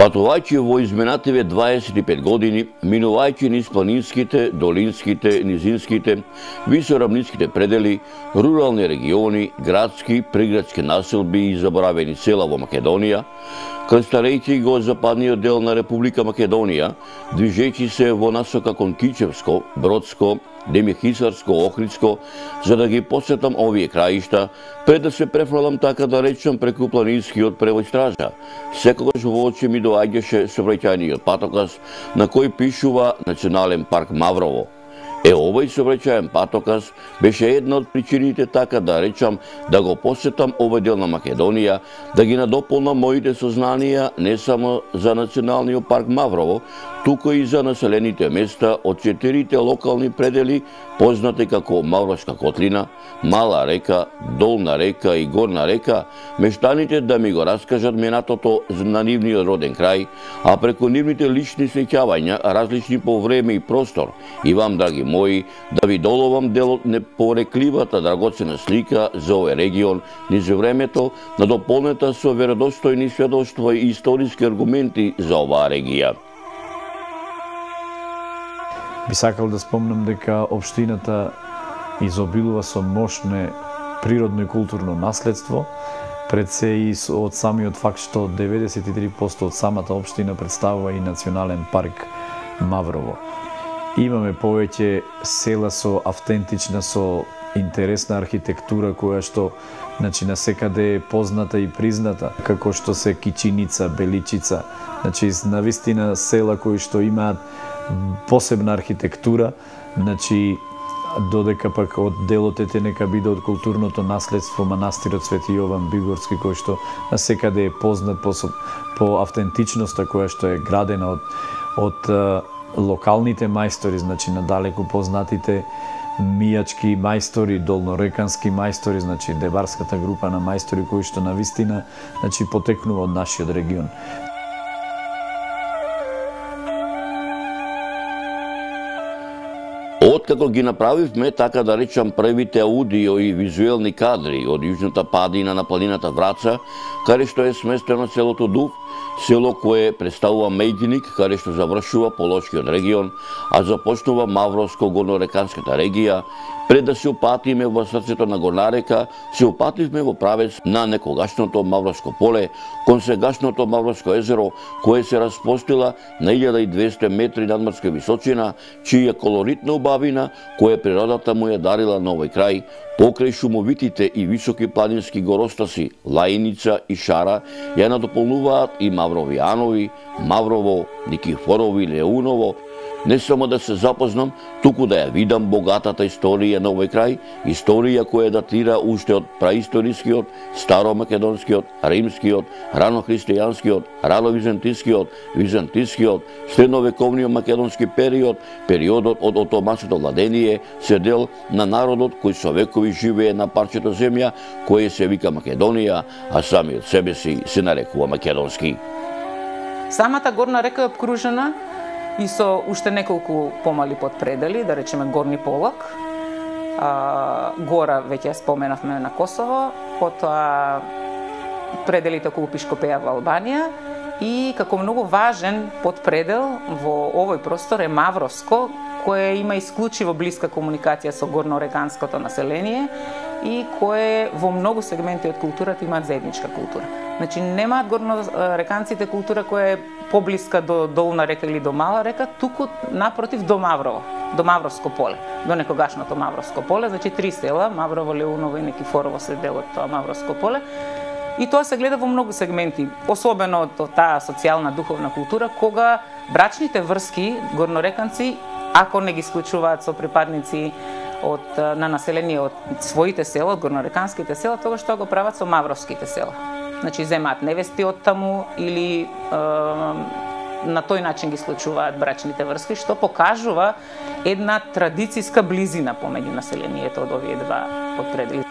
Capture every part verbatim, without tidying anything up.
Патувајќи во изминативе дваесет и пет години, минувајќи низ планинските, долинските, низинските, висоравнинските предели, рурални региони, градски, приградски населби и заборавени села во Македонија, констарејќи го западниот дел на Република Македонија, движејќи се во насока кон Кичевско, Бродско, Демихисарско, Охридско, за да ги посетам овие краишта, пред да се префрлам, така да речам, преку планинскиот превој стража. Секогаш во очи ми доаѓаше сообраќајниот патоказ на кој пишува Национален парк Маврово. Е, овој сообраќајен патоказ беше една од причините, така да речам, да го посетам овој дел на Македонија, да ги надополнам моите сознанија не само за Националниот парк Маврово, туку и за населените места од четирите локални предели, познати како Мавровска котлина, Мала река, Долна река и Горна река, мештаните да ми го раскажат минатото на нивниот роден крај, а преку нивните лични сеќавања, различни по време и простор, и вам, драги мои, да ви доловам дел од непорекливата драгоцена слика за овој регион низ времето, надополнета со веродостојни сведоштва и историски аргументи за оваа регија. Би сакал да спомнам дека општината изобилува со мощно природно и културно наследство, пред се и од самиот факт што деветдесет и три проценти од самата општина представува и Национален парк Маврово. Имаме повеќе села со автентична, со интересна архитектура, која што значи насекаде е позната и призната, како што се Кичиница, Беличица, значи навистина села кои што имаат посебна архитектура, значи додека пак од делот ете нека биде од културното наследство манастирот Свети Јован Бигорски, кој што насекаде е познат по, по автентичноста која што е градена од, од локалните мајстори, значи надалеку познатите мијачки мајстори, долнорекански мајстори, значи дебарската група на мајстори кои што навистина значи потекнува од нашиот регион. Откако ги направивме, така да речам, првите аудио и визуелни кадри од јужната падина на планината Враца, каде што е сместено селото Дув, село кое представува меѓиник, каде што завршува Полошкиот регион, а започнува Мавровско-горнореканската регија, пред да се упатиме во срцето на Горна река, се упативме во правец на некогашното Мавровско поле, кон сегашното Мавровско езеро, кое се распостила на илјада и двесте метри надморска височина, чија колоритна убавина, која природата му ја дарила на овој крај, покрај шумовитите и високи планински горостаси Лајница и Шара, ја надополнуваат и Мавровијанови, Маврово, Никифорово и Леуново. Не само да се запознам, туку да ја видам богатата историја на овој крај, историја која датира уште од праисторискиот, старомакедонскиот, римскиот, ранохристијанскиот, рано-византискиот, византискиот, средновековниот македонски период, периодот од отоманското владение, се дел на народот кој со векови живее на парчето земја, кое се вика Македонија, а самиот себе си се нарекува македонски. Самата Горна река е обкружена и со уште неколку помали подпредели, да речеме Горни Полак. А, гора веќе ја споменавме на Косово, потоа пределите околу Пишкопеја во Албанија и како многу важен подпредел во овој простор е Мавровско, кое има исклучиво блиска комуникација со горнореканското население и кое во многу сегменти од културата имаат заедничка култура. Значи немаат горнореканците култура која е поблиска до Долна река или до Мала река, туку напротив до Маврово, до Мавровско поле, до некогашното Мавровско поле, значи три села, Маврово, Леуново и Никифорово се дел од тоа Мавровско поле. И тоа се гледа во многу сегменти, особено од таа социјална духовна култура, кога брачните врски горнореканци, ако не ги исклучуваат со припадници од на население од своите села, од горнореканските села, тогаш тоа го прават со мавровските села. Значи земаат невести од таму или е, на тој начин ги случуваат брачните врски, што покажува една традицијска близина помеѓу населението од овие два подпредели.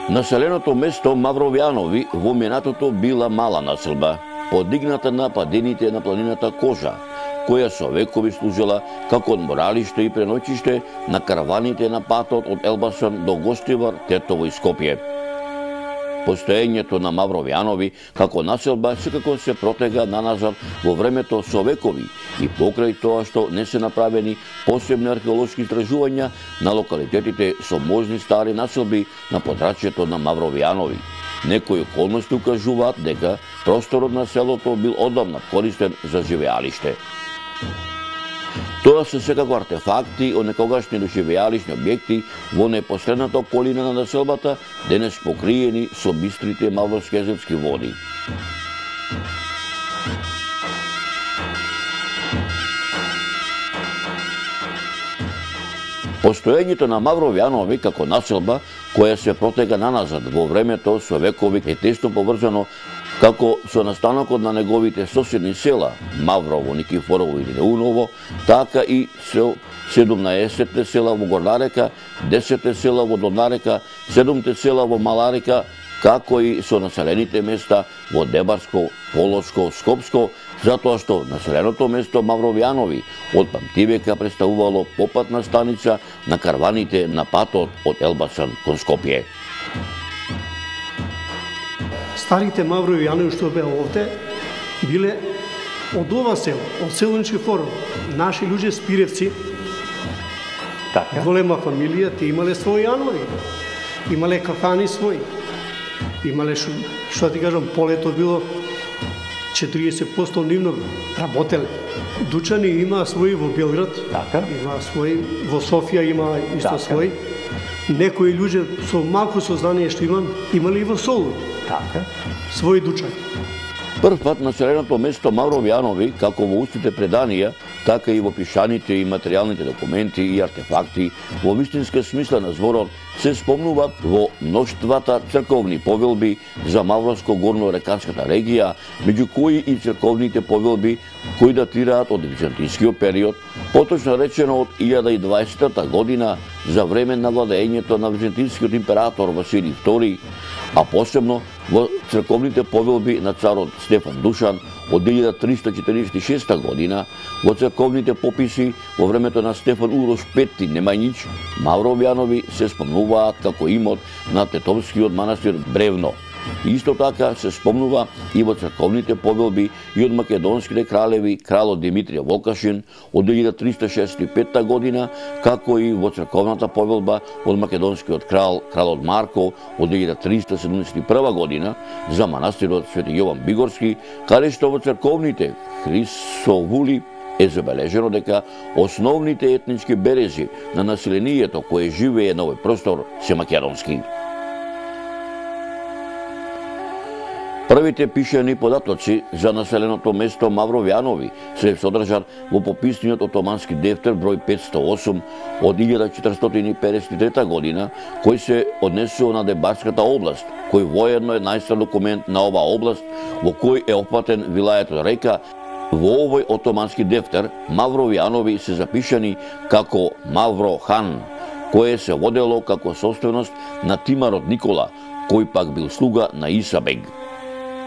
Населеното место Мавровијанови во минатото била мала населба, подигната на падините на планината Кожа, која со векови служела како одморалиште и преноќиште на караваните на патот од Елбасан до Гостивар, Тетово и Скопје. Постоењето на Мавровјанови како населба секако се протега наназад во времето со векови и покрај тоа што не се направени посебни археолошки истражувања на локалитетите со можни стари населби на подрачјето на Мавровјанови. Некои околности укажуваат дека просторот на селото бил одамна користен за живеалиште. Тоа се секако артефакти од некогашни доживеалишни објекти во непосредната околина на населбата, денес покриени со бистрите мавровскезетски води. Постоењето на Мавровјанови како населба, која се протега наназад во времето со векови, е тесно поврзано како со настанокот на неговите соседни села Маврово, Никифорово или Неуново, така и со седумнаесетте села во Горна-река, десетте села во Долна-река, седумте села во Мала-река, како и со населените места во Дебарско, Полошко, Скопско, затоа што населеното место Мавровјанови од памтивека представувало попатна станица на карваните на патот од Елбасан кон Скопје. Старите Мавровјанови што беа овде биле од ова село, од село Никифорово. Наши луѓе спиревци, Така. голема фамилија, те имале своји јанови, имале кафани своји, имале шо, што ти кажам, полето било четириесет проценти нивно работеле. Дучани има своји во Белград, Така. има своји во Софија, има исто Така. своји. Некои луѓе со малку сознание што имам, имале и во Солун Така. своји дучани. Прв пат населеното место Мавровјанови, како во устните преданија, така и во пишаните и материјалните документи и артефакти, во вистинска смисла на зборот, се спомнуваат во мноштвата црковни повелби за Мавровско-горно-реканската регија, меѓу кои и црковните повелби кои датираат од византискиот период, поточно речено од илјада и дваесетта година за време на владеењето на византискиот император Василий втори, а посебно во црковните повелби на царот Стефан Душан од илјада триста четиридесет и шеста година, во црковните пописи во времето на Стефан Урош Пети Немањич, Мавровјанови се спомнуваат како имот на Тетовскиот манастир Бревно. Исто така се спомнува и во црковните повелби и од македонските кралеви кралот Димитрија Волкашин од илјада триста шеесет и петта година, како и во црковната повелба од македонскиот крал кралот Марко од илјада триста седумдесет и прва година за манастирот Свети Јован Бигорски, каде што во црковните хрисовули е забележено дека основните етнички берези на населението кое живее на овој простор се македонски. Првите пишани податоци за населеното место Мавровјанови се содржат во пописниот отомански дефтер број петсто и осум од илјада четиристотини и педесет и трета година, кој се однесува на Дебарската област, кој воедно е најстар документ на оваа област, во кој е опфатен вилајетот Река. Во овој отомански дефтер Мавровјанови се запишани како Мавро хан, кое се водело како собственост на Тимарот Никола, кој пак бил слуга на Исабег.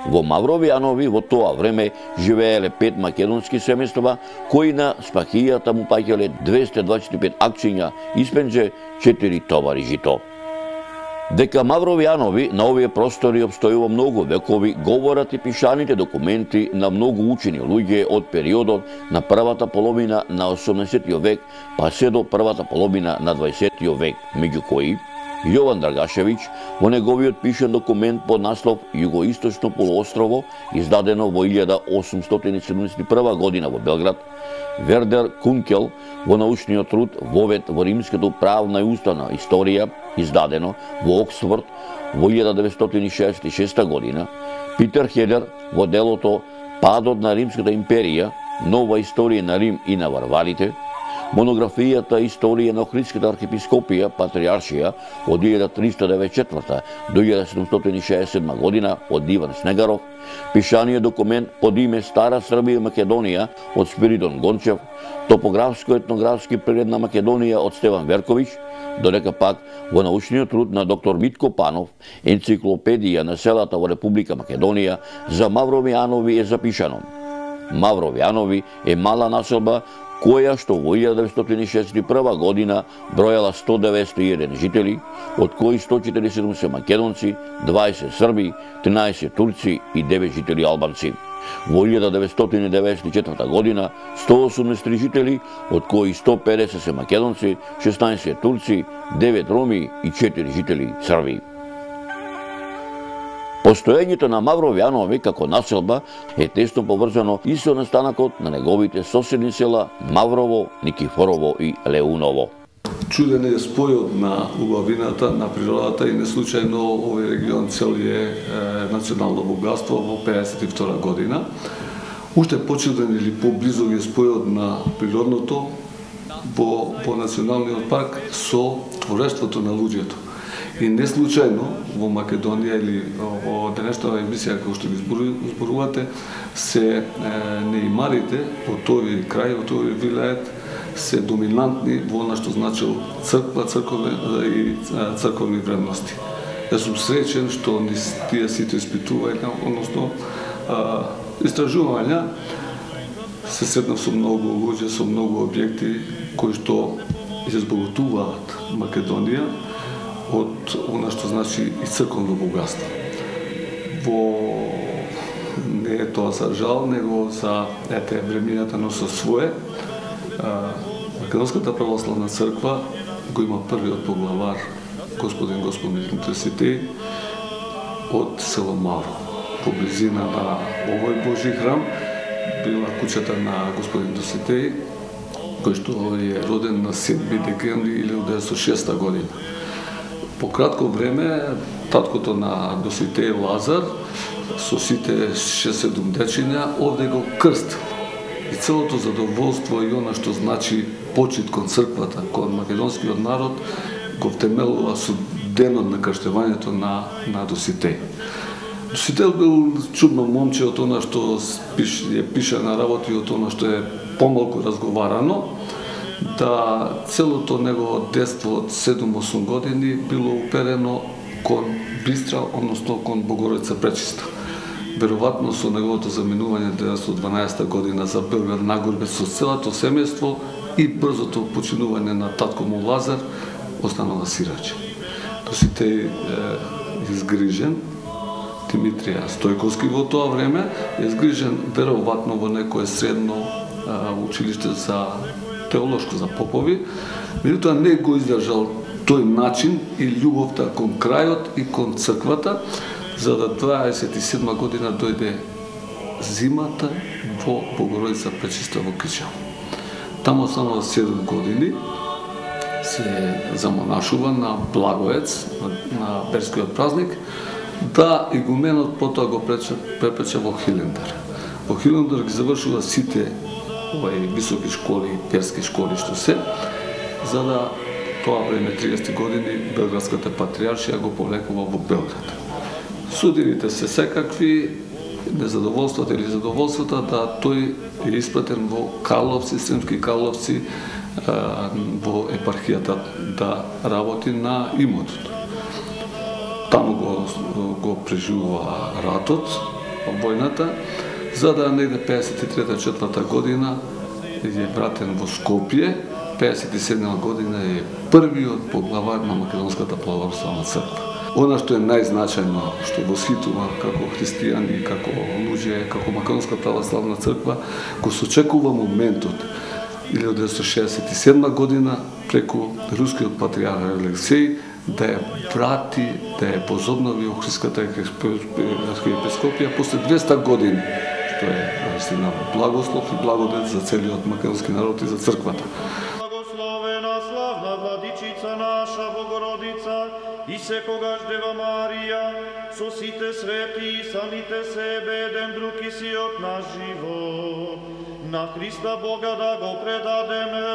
Во Мавровјанови во тоа време живееле пет македонски семејства, кои на спахијата му паѓале двесте дваесет и пет акциња испенџе, четири товари жито. Дека Мавровјанови на овие простори обстојува многу векови, говорат и пишаните документи на многу учени луѓе од периодот на првата половина на осумнаесеттиот век, па се до првата половина на дваесеттиот век, меѓу кои Јован Драгашевиќ во неговиот пишан документ под наслов Југоисточно полуострово, издадено во илјада осумстотини седумдесет и прва година во Белград, Вердер Кункел во научниот труд Вовед во римската правна и уставна историја, издадено во Оксфорд во илјада деветстотини шеесет и шеста година, Питер Хедер во делото Падот на Римската империја, нова историја на Рим и на варварите, монографијата Историја на Охридската архиепископија Патриаршија од илјада триста деветдесет и четврта до илјада седумстотини шеесет и седма година од Иван Снегаров, пишаниот документ под име Стара Србија и Македонија од Спиридон Гончев, топографско-етнографски преглед на Македонија од Стеван Верковиќ, додека пак во научниот труд на доктор Митко Панов, енциклопедија на селата во Република Македонија за Мавровјанови е запишано: Мавровјанови е мала населба која што во илјада деветстотини и шеесет и прва година бројала сто деветдесет и еден жители, од кои сто четиридесет и седум се македонци, дваесет срби, тринаесет турци и девет жители албанци. Во илјада деветстотини деветдесет и четврта година сто осумдесет и три жители, од кои сто педесет се македонци, шеснаесет турци, девет роми и четири жители срби. Постоењето на Мавровјанови како населба е тесно поврзано и со настанакот на неговите соседни села Маврово, Никифорово и Леуново. Чуден е спојот на убавината, на природата и не случајно овој регион цел е, е национално богатство во пеесет и втора година. Уште почуден или поблизо е спојот на природното во, во националниот парк со творештвото на луѓето. И не случајно во Македонија или во денешната емисија како што ги зборувате, се е, неимарите од тој крај, од тој вилает, се доминантни во она што значил црква, цркове и црковни вредности. Јас сум среќен што тие сите испитувања, односно истражувања, се сретнав со многу луѓе, со многу објекти кои што избогатуваат Македонија од она што значи и црковно богатство. Во не е тоа за жал, него за ете времењата носи свое. Македонската православна црква го има првиот поглавар, господин Господин Доситеј, од село Маврово. По близина на овој Божи храм била куќата на господин Доситеј, кој што е роден на седми декември илјада деветстотини и шеста година. По кратко време, таткото на Доситеј Лазар, со сите шест-седум дечиња, овде го крстил. И целото задоволство и она што значи почит кон црквата, кон македонскиот народ, го втемелува со денот на крштевањето на, на Доситеј. Доситеј бил чудно момче од она што пиш, е пише на работи, од она што е помалку разговарано, да целото негово детство од седум-осум години било уперено кон Бистра, односно кон Богородица Пречиста. Веројатно со неговото заминување деветстотини и дванаесета година за Белград нагорбе со целото семејство и брзото починување на татко му Лазар, останала сираче. Доситеј е изгрижен, Димитрија Стојковски во тоа време е изгрижен веројатно во некое средно а, училиште за теолошко за попови, меѓутоа не го издржал тој начин и љубовта кон крајот и кон црквата, за да дваесет и седма година дојде зимата во Богородица Пречиста во Кичево. Таму само седум години се замонашува на Благоец, на, на Берскиот празник, да игуменот потоа го препече во Хилендар. Во Хилендар ги завршува сите овај високи школи, перски школи што се, за да тоа време триесет години Белградската патриаршија го повлекува во Белград. Судините се секакви, незадоволствата или задоволствата да тој е испратен во Карловци, Сремски Карловци, во епархијата да работи на имотот. Таму го, го преживува ратот, војната, за да негде пеесет и трета четврта година е вратен во Скопје, пеесет и седма година е првиот поглавар на Македонската православна црква. Она што е најзначајно, што восхитува како христијани, како луѓе, како Македонска православна црква, го сочекува моментот илјада деветстотини шеесет и седма година преку рускиот патриарх Алексеј да ја врати, да ја возобнови Охридската архиепископија после двеста години, што е наистина благослов и благодет за целиот македонски народ и за црквата. Благословена славна владичица наша Богородица и секогаш Дева Марија, со сите свети и самите себе еден друг и сиот на живот, на Христа Бога да го предадеме.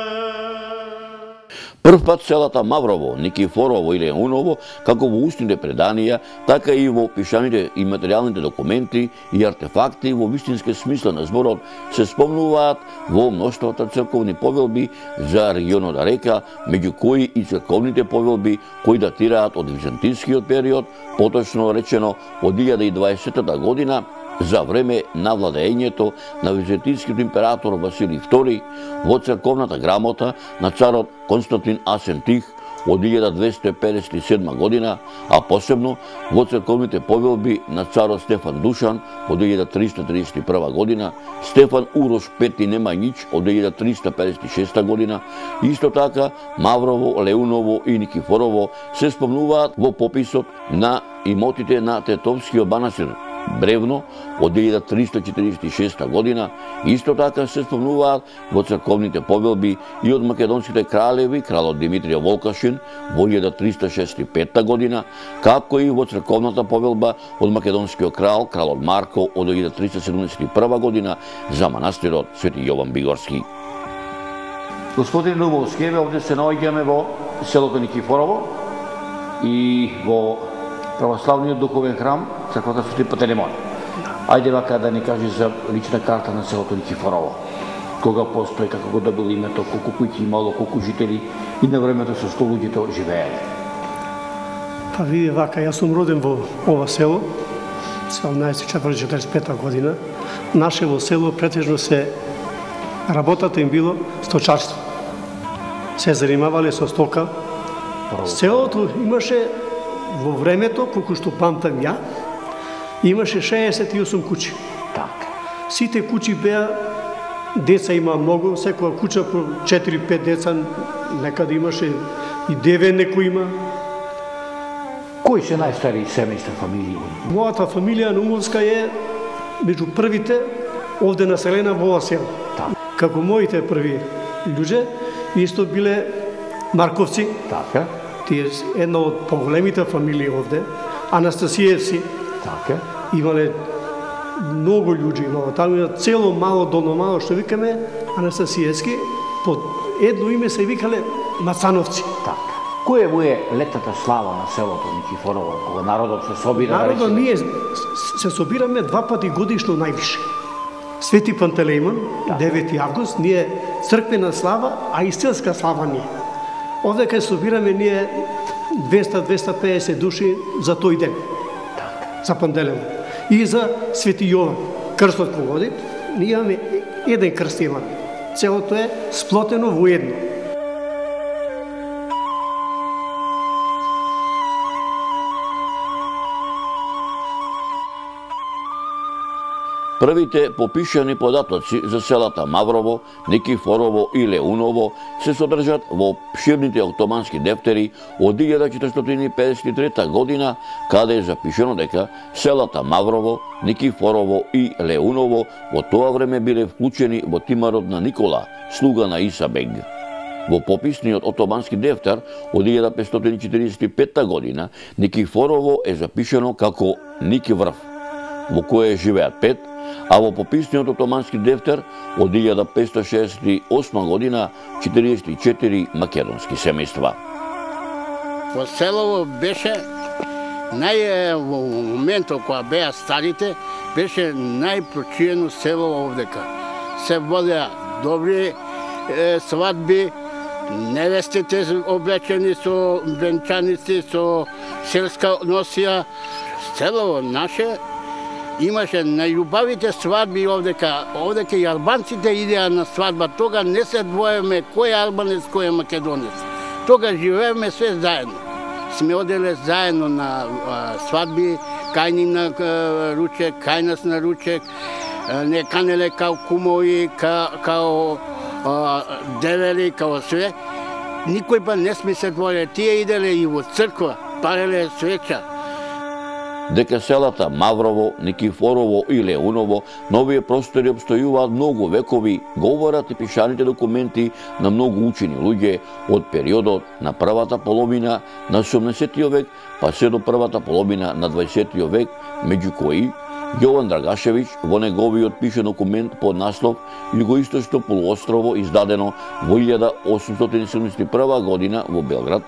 Прв пат селата Маврово, Никифорово и Леуново, како во устните преданија, така и во пишаните и материјалните документи и артефакти во вистински смисла на зборот се спомнуваат во мноштвото црковни повелби за регионот река, меѓу кои и црковните повелби кои датираат од византискиот период, поточно речено од илјада и дваесетта година, за време на владеењето на византискиот император Василий втори во црковната грамота на царот Константин Асен Тих од илјада двесте педесет и седма година, а посебно во црковните повелби на царот Стефан Душан од илјада триста тридесет и прва година, Стефан Урош Пети Немањич од илјада триста педесет и шеста година, исто така Маврово, Леуново и Никифорово се спомнуваат во пописот на имотите на Тетовскиот манастир Бревно од илјада триста четиридесет и шеста година, исто така се спомнуваат во црковните повелби и од македонските кралеви, кралот Димитрија Волкашин во илјада триста шеста и петта година, како и во црковната повелба од македонскиот крал, кралот Марко од илјада триста седумдесет и прва година за манастирот Свети Јован Бигорски. Господин Любовски, еве овде се наоѓаме во селото Никифорово и во православниот духовен храм црквата Свети Пантелеймон. Ајде вака да ни кажи за лична карта на селото Никифорово. Кога постои, како го добил името, колку куќи имало, колку жители и на времето со што луѓето живееле. Па види вака, јас сум роден во ова село, седумнаесет четврти четиридесет и пета година. Наше во село претежно се работата им било сточарство. Се занимавале со стока. Селото имаше во времето, колку што памтам ја, имаше шеесет и осум куќи. Така. Сите куќи беа, деца има многу, секоја куќа по четири-пет деца, некаде имаше и девет некој има. Кои се најстари семејства фамилии? Мојата фамилија Нумовска е меѓу првите овде населена во ова село. Така. Како моите први луѓе, исто биле Марковци. Така. Тие една од поголемите фамилии овде, Анастасиевци. Така. Имале многу луѓе, имало таму има цело мало долно мало што викаме Анастасиевски, под едно име се викале Мацановци. Така. Која му е летната слава на селото Никифорово, кога народот се собира? Народот ние се собираме два пати годишно највише. Свети Пантелеймон, девети август, ние црквена слава, а и селска слава ние. Овде кај собираме ние двеста до двеста и педесет души за тој ден. За Пантелеймон. И за Свети Јован. Крстот погоди, ние имаме еден крст имаме. Целото е сплотено во едно. Првите попишани податоци за селата Маврово, Никифорово и Леуново се содржат во обширните октомански дефтери од илјада четиристотини педесет и трета година, каде е запишено дека селата Маврово, Никифорово и Леуново во тоа време биле вклучени во тимарот на Никола, слуга на Иса бег. Во пописниот отомански дефтер од илјада петстотини четиридесет и петта година Никифорово е запишено како Ники врв, во кое живеат пет, а во пописниот отомански дефтер од илјада петстотини шеесет и осма година четириесет и четири македонски семејства. Во селово беше нај во моментот кога беа старите, беше најпрочиено село овдека. Се водеа добри е, свадби, невестите облечени со венчаници, со селска носија. Селово наше имаше најубавите свадби овдека. Овдека и албанците идеа на свадба. Тога не се двоеме кој е албанец, кој е македонец. Тога живееме све заедно. Сме оделе заедно на а, свадби, кај ним на а, ручек, кај нас на ручек, а, не канеле као кумови, ка, као а, девели, као све. Никој па не сме се двоеле. Тие иделе и во црква, пареле свеча. Дека селата Маврово, Никифорово и Леуново на овие простори обстојуваат многу векови, говорат и пишаните документи на многу учени луѓе од периодот на првата половина на седумдесеттиот век па се до првата половина на дваесеттиот век, меѓу кои Јован Драгашевиќ во неговиот пише документ под наслов Југоисточно полуострово, издадено во илјада осумстотини седумдесет и прва година во Белград,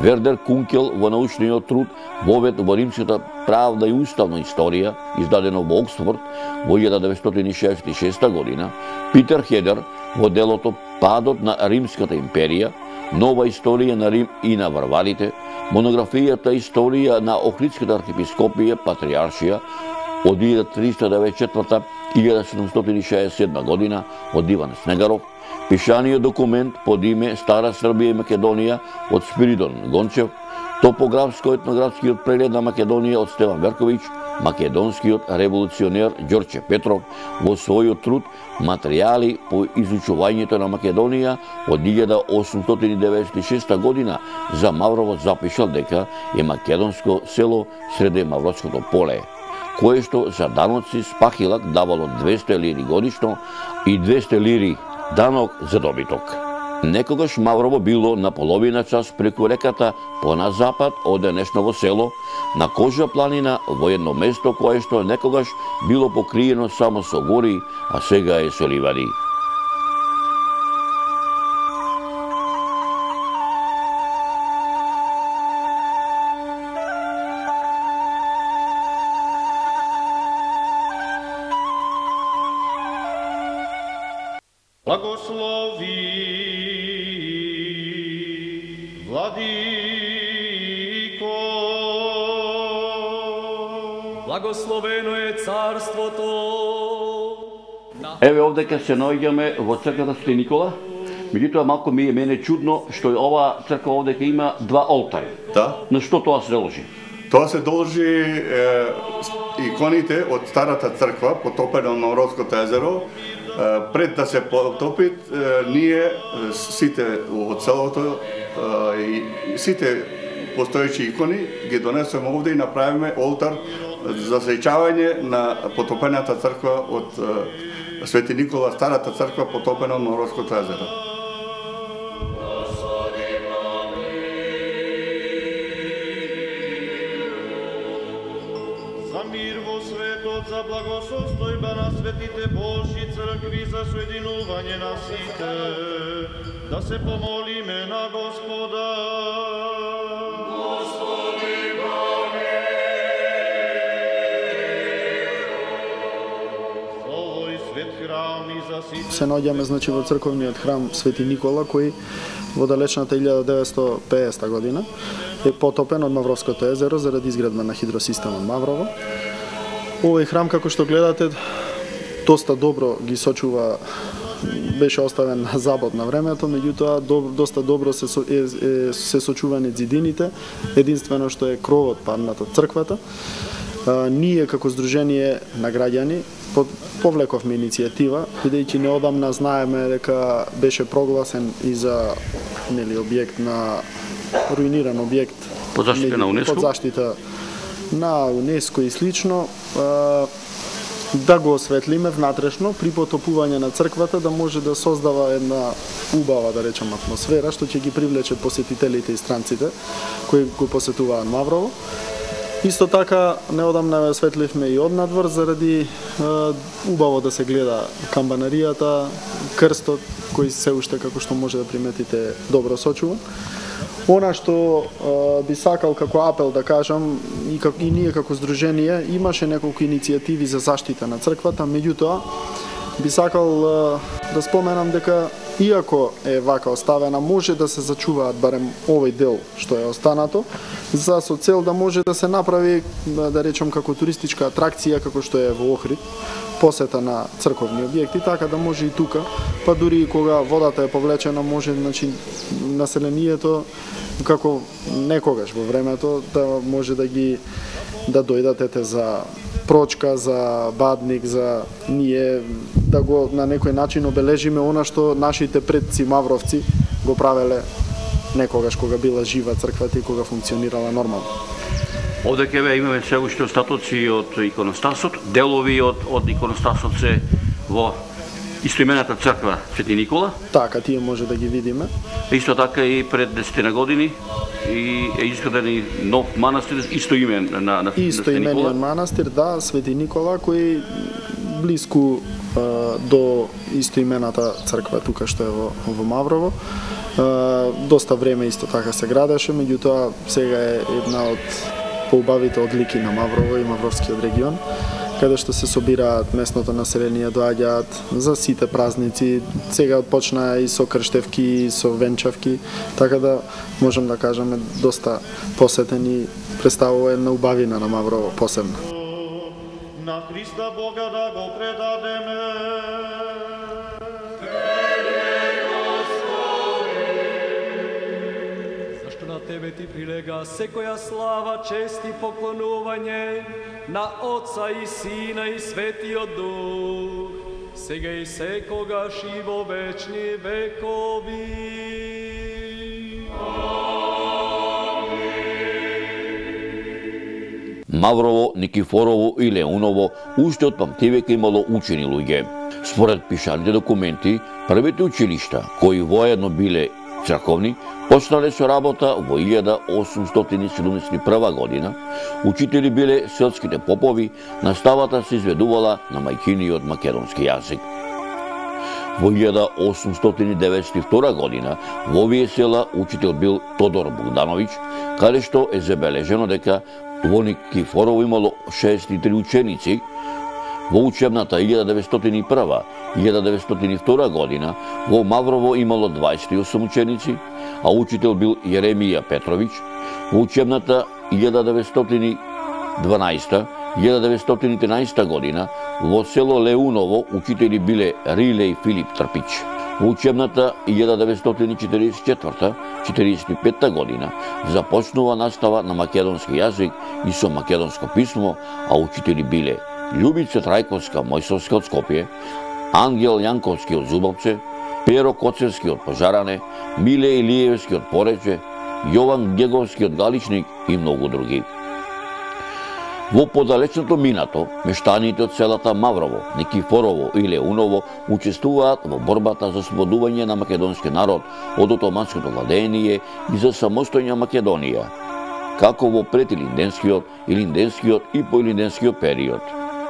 Вердер Кункел во научниот труд Вовед во римската правда и уставна историја, издадено во Оксфорд во илјада деветстотини шеесет и шеста година, Питер Хедер во делото Падот на Римската империја, Нова историја на Рим и на варварите, монографијата Историја на Охридската архиепископија Патриаршија, од илјада триста деветдесет и четврта – илјада седумстотини шеесет и седма година од Иван Снегаров, пишаниот документ под име Стара Србија и Македонија од Спиридон Гончев, топографско-етнографскиот преглед на Македонија од Стеван Верковиќ, македонскиот револуционер Ѓорче Петров во својот труд Материјали по изучувањето на Македонија од илјада осумстотини деветдесет и шеста година за Маврово запишал дека е македонско село среде Мавровското поле, кое што за даноци Спахилак давало двесте лири годишно и двесте лири данок за добиток. Некогаш Маврово било на половина час преку реката по на запад од денешново село, на Кожа планина, во едно место кое што некогаш било покриено само со гори, а сега е со ливади. Благослови, Владико. Благословено е царството. Еве овдека се наоѓаме во црквата Свети Никола. Меѓутоа малку ми е мене чудно што ова црква овдека има два олтари. Да. На што тоа се должи? Тоа се должи е, иконите од старата црква потопена на Мавровското езеро. Пред да се потопи, ние сите од селото и сите постоечи икони ги донесеме овде и направиме олтар за сеќавање на потопената црква од Свети Никола, старата црква потопена од Мавровското езеро. За мир во светот, за благосостојба на светите Божји цркви, за соединување на сите, да се помолиме на Господа. Господи, за овој свет храм и за сите. Се наоѓаме значи во црковниот храм Свети Никола, кој во далечната илјада деветстотини и педесета година е потопен од Мавровското езеро заради изградба на хидросистемот Маврово. Овој храм, како што гледате, доста добро ги сочува, беше оставен на забод на времето, меѓутоа доста добро се, со, е, е, се сочувани ѕидините, единствено што е кровот паднат од црквата. А, ние како Сдружение на граѓани повлековме иницијатива, бидејќи неодамна знаеме дека беше прогласен и за нели објект на руиниран објект под заштита на УНЕСКО, под заштита на УНЕСКО и слично, да го осветлиме внатрешно при потопување на црквата, да може да создава една убава, да речем, атмосфера, што ќе ги привлече посетителите и странците кои го посетуваат Маврово. Исто така, неодамна осветливме и однадвор заради е, убаво да се гледа камбанаријата, крстот, кој се уште, како што може да приметите, добро сочува. Она што е, би сакал како апел да кажам, и, как, и ние како Сдружение, имаше неколку иницијативи за заштита на црквата, меѓутоа, би сакал е, да споменам дека иако е вака оставена, може да се зачуваат барем овој дел што е останато, за со цел да може да се направи, да речем, како туристичка атракција, како што е во Охрид, посета на црковни објекти, така да може и тука, па дури и кога водата е повлечена, може, значи, населението, како некогаш во времето, да може да ги да дојдат за прочка, за бадник, за ние да го на некој начин обележиме она што нашите предци мавровци го правеле некогаш кога била жива црквата и кога функционирала нормално. Овде кеве имаме се уште остатоци од иконостасот, делови од од иконостасот се во истоимената црква Свети Никола. Така, тие може да ги видиме. Исто така и пред десетина години и е изграден и нов манастир истоимен на на истоимениот манастир, да, Свети Никола, кој блиску а, до истоимената црква тука што е во, во Маврово. А, доста време исто така се градеше, меѓутоа сега е една од поубавите одлики на Маврово и Мавровскиот регион, каде што се собираат местното население, доаѓаат за сите празници. Сега почна и со крштевки, и со венчавки, така да можем да кажеме доста посетен и представува една убавина на Маврово посебна. на Христа Бога да го предадеме. Зашто на Тебе Ти прилега секоја слава, чест и поклонување на Отца и Сина и Светиот Дух, сега и секогаш и во вечни векови. Маврово, Никифорово и Леуново уште од памтивека имало учени луѓе. Според пишаните документи, првите училишта, кои воедно биле црковни, почнале со работа во илјада осумстотини седумдесет и прва година. Учители биле селските попови, наставата се изведувала на мајчиниот македонски јазик. Во илјада осумстотини деветдесет и втора година во овие села учител бил Тодор Богдановиќ, каде што е забележено дека во Никифорово имало шеесет и три ученици. Во учебната илјада деветстотини и прва - илјада деветстотини и втора година во Маврово имало дваесет и осум ученици, а учител бил Јеремија Петровиќ. Во учебната илјада деветстотини и дванаесета - илјада деветстотини и тринаесета година во село Леуново учители биле Риле и Филип Трпиќ. Во учебната илјада деветстотини и четиридесет и четврта - четиридесет и петта година започнува настава на македонски јазик и со македонско писмо, а учители биле Љубица Трајковска Мојсовска од Скопје, Ангел Јанковски од Зубовце, Перо Коцевски од Пожаране, Миле Илиевски од Порече, Јован Геговски од Галичник и многу други. Во подалечното минато, мештаните од селата Маврово, Никифорово и Леуново учествуваат во борбата за ослободување на македонски народ од отоманското владење и за самостојна Македонија, како во предилинденскиот, илинденскиот и поилинденскиот период.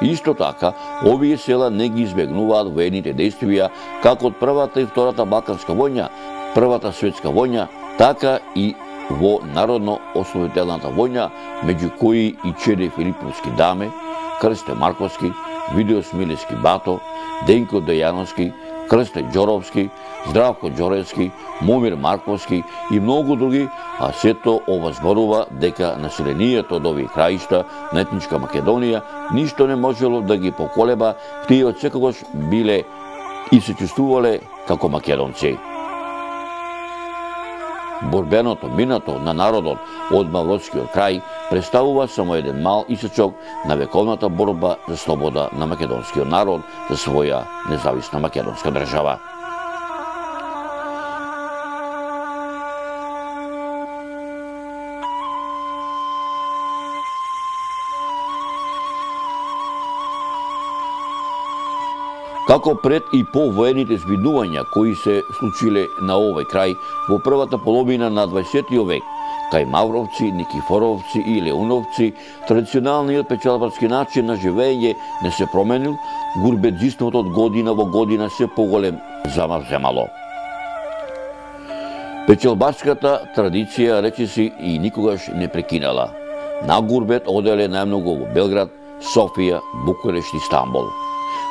Исто така, овие села не ги избегнуваат воените действија како од Првата и Втората Балканска војна, Првата светска војна, така и во Народно-ослободителната војна, меѓу кои и Чеде Филиповски Даме, Крсте Марковски, Видеос Милевски Бато, Денко Дејановски, Крсте Ѓоровски, Здравко Ѓоревски, Момир Марковски и многу други, а сето ова зборува дека населението од овие краишта на етничка Македонија ништо не можело да ги поколеба, тие од секогаш биле и се чувствувале како македонци. Борбеното минато на народот од Мавровскиот крај представува само еден мал исечок на вековната борба за слобода на македонскиот народ за своја независна македонска држава. Како пред и по воените збидувања кои се случиле на овој крај во првата половина на дваесеттиот век, кај Мавровци, Никифоровци и Леуновци, традиционалниот печалбарски начин на живење не се променил, гурбеджиството од година во година се поголем замах земало. Печалбарската традиција речиси и никогаш не прекинала. На гурбет оделе најмногу во Белград, Софија, Букурешт и Стамбул.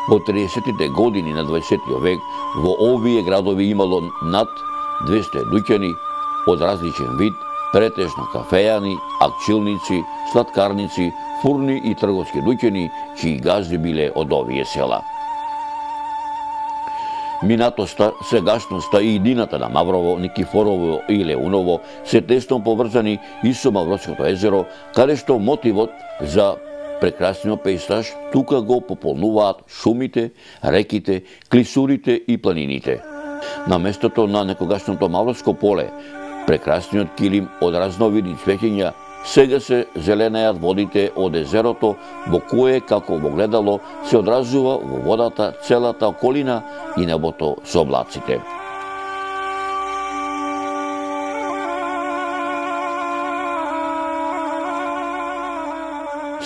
Во триесеттите години на дваесеттиот век во овие градови имало над двесте дуќани од различен вид, претежно кафејани, акчилници, сладкарници, фурни и трговски дуќани, чии газди биле од овие села. Минатоста, сегашноста и идината на Маврово, Никифорово и Леуново се тесно поврзани и со Мавровското езеро, каде што мотивот за прекрасниот пејзаж тука го пополнуваат шумите, реките, клисурите и планините. На местото на некогашното Мавровско поле, прекрасниот килим од разновидни цвеќиња, сега се зеленеат водите од езерото, во кое, како во гледало, се одразува во водата целата околина и небото со облаците.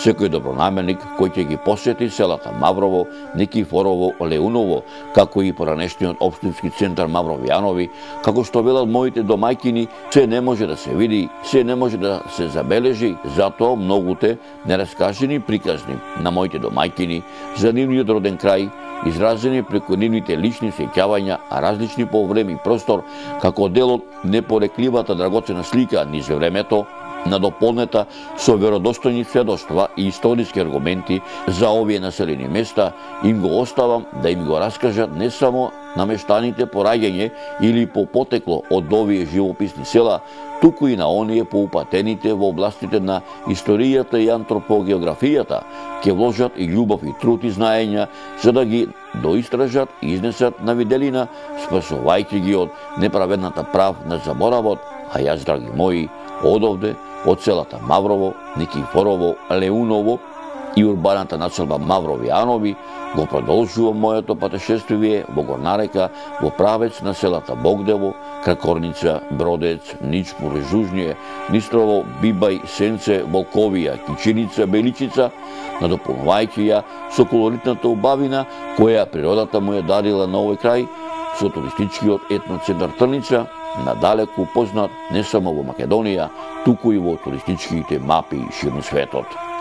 Секој добронамерник кој ќе ги посети селата Маврово, Никифорово, Леуново, како и поранешниот општински центар Мавровјанови, како што велат моите домајкини, се не може да се види, се не може да се забележи, затоа многуте нераскажени приказни на моите домајкини за нивниот роден крај, изразени преку нивните лични сеќавања, а различни по време и простор, како дел од непорекливата драгоцена слика низ времето, надополнета со веродостојни сведоштва и историски аргументи за овие населени места, им го оставам да им го раскажат не само намештаните по раѓање или по потекло од овие живописни села, туку и на оние поупатените во областите на историјата и антропогеографијата, ќе вложат и љубов и труд и знаења за да ги доистражат и изнесат на виделина, спасувајќи ги од неправедната прав на заборавот, а јас, драги мои, одовде, од селата Маврово, Никифорово, Леуново и урбаната населба Маврови Анови, го продолжувам моето патешествие во Горнарека, во правец на селата Богдево, Кракорница, Бродец, Ничпур, Жужње, Нистрово, Бибај, Сенце, Волковија, Кичиница, Беличица, надополнувајќи ја со колоритната убавина која природата му ја дарила на овој крај, со туристичкиот етноцентар Трница, надалеку познат не само во Македонија, туку и во туристичките мапи ширно светот.